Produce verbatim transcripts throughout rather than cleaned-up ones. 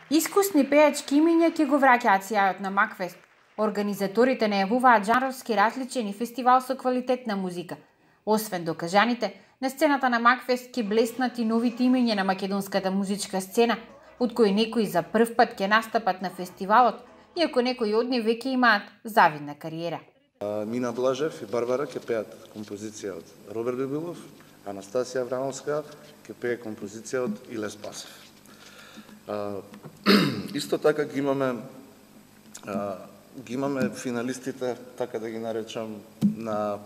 Искусни пејачки имиња ќе го враќаат сјајот на Макфест. Организаторите најавуваат жанровски различен и фестивал со квалитетна музика. Освен докажаните, на сцената на Макфест ќе блеснат и новите имиња на македонската музичка сцена, од кои некои за прв пат ќе настапат на фестивалот, иако некои од нив веќе имаат завидна кариера. Мина Блажев и Барбара ќе пеат композиција од Роберт Бибилов, Анастасија Аврамовска ќе пее композиција од Иле Спасев. Uh, исто така ги имаме uh, ги имаме финалистите, така да ги наречам, на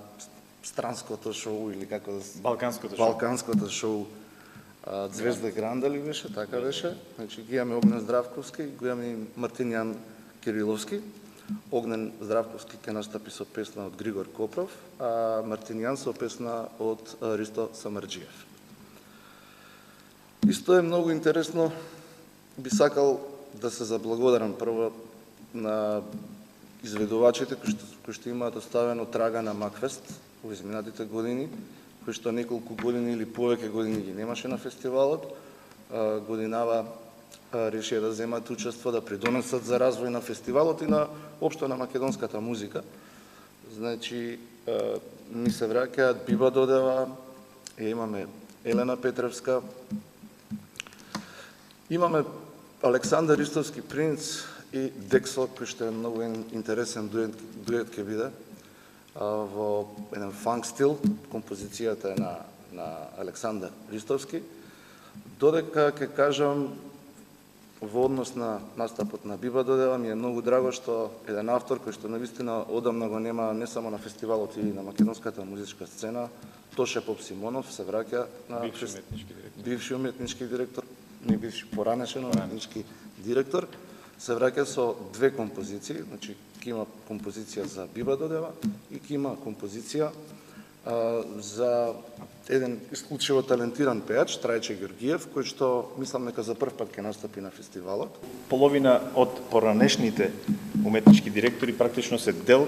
странското шоу или како да Балканското шоу. Балканското шоу uh, Звезда Гранда ли беше, така беше. Значи ги имаме Огнен Здравковски, го имаме и Мартинијан Кириловски. Огнен Здравковски ќе настапи со песна од Григор Копров, а Мартинијан со песна од Ристо Самарџиев. Исто е многу интересно. Би сакал да се заблагодарам прво на изведувачите кои што, кои што имаат оставено трага на Макфест во изминатите години, кои што неколку години или повеќе години ги немаше на фестивалот. Годинава решија да земат учество, да придонесат за развој на фестивалот и на општо на македонската музика. Значи, ми се враќаат Биба Додева, имаме Елена Петревска, имаме Александар Ристовски Принц и Дексо, кој што е многу интересен дует, дует ќе биде во еден фанк стил. Композицијата е на, на Александар Ристовски. Додека ќе кажам во однос на настапот на Биба Додева, ми е многу драго што еден автор кој што навистина одамна го нема не само на фестивалот и на македонската музичка сцена, Тоше Поп Симонов се враќа на бивши уметнички директор. Бивши уметнички директор, не бивши поранешен уметнички директор, се враќа со две композиции, значи ќе има композиција за Биба Додева и ќе има композиција а, за еден исклучиво талентиран пејач, Трајче Георгиев, кој што мислам дека за прв пат ќе настапи на фестивалот. Половина од поранешните уметнички директори практично се дел.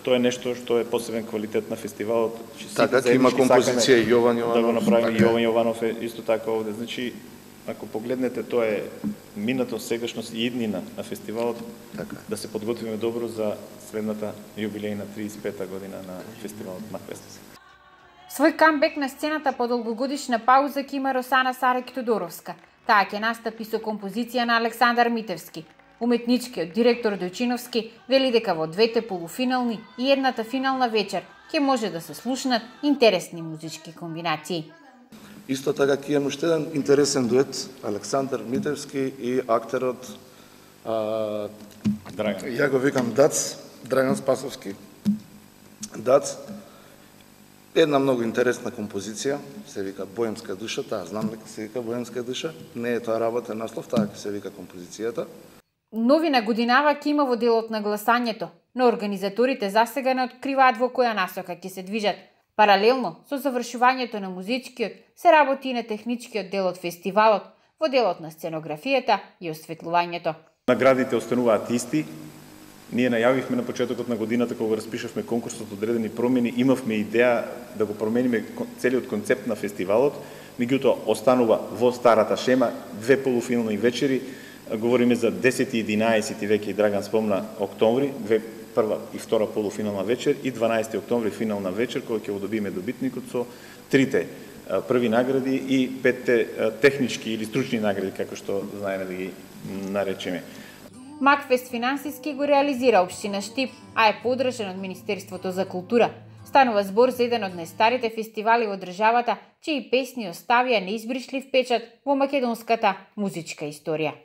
Тоа е нешто што е посебен квалитет на фестивалот. Така, ќе има композиција и Јован Јованов. Да го направиме, Јован Јованов е исто така овде. Значи, ако погледнете, тоа е минато, сегашност и иднина на фестивалот, така, да се подготвиме добро за следната јубилејна триесет и пета година на фестивалот Макфест. Свој камбек на сцената по долгогодишна пауза ќе има Росана Сарек Тодоровска. Таа ќе настапи со композиција на Александар Митевски. Уметничкиот директор Дојчиновски вели дека во двете полуфинални и едната финална вечер ќе може да се слушнат интересни музички комбинации. Исто така ќе имаме уште еден интересен дует, Александар Митевски и актерот а, Драган. Ја го викам Дац, Драган Спасовски. Дац, една многу интересна композиција, се вика Боемска душа, таа знам дека се вика Боемска душа, не е тоа работен наслов, таа ќе се вика композицијата. Новина годинава ќе има во делот на гласањето, но организаторите засега не откриваат во која насока ќе се движат. Паралелно со завршувањето на музичкиот се работи и на техничкиот дел од фестивалот, во делот на сценографијата и осветлувањето. Наградите остануваат исти. Ние најавивме на почетокот на годината кога распишавме конкурсот одредени промени, имавме идеја да го промениме целиот концепт на фестивалот, меѓутоа останува во старата шема две полуфинални вечери. Говориме за десети и единаесети веќе и Драган спомна октомври, две прва и втора полуфинална вечер и дванаесети октомври финална вечер, која ќе го добиеме добитникот со трите први награди и петте технички или стручни награди, како што знаеме да ги наречеме. Макфест финансиски го реализира општина Штип, а е подржан од Министерството за култура. Станува збор за еден од најстарите фестивали во државата, чии песни оставија неизбришлив печат во македонската музичка историја.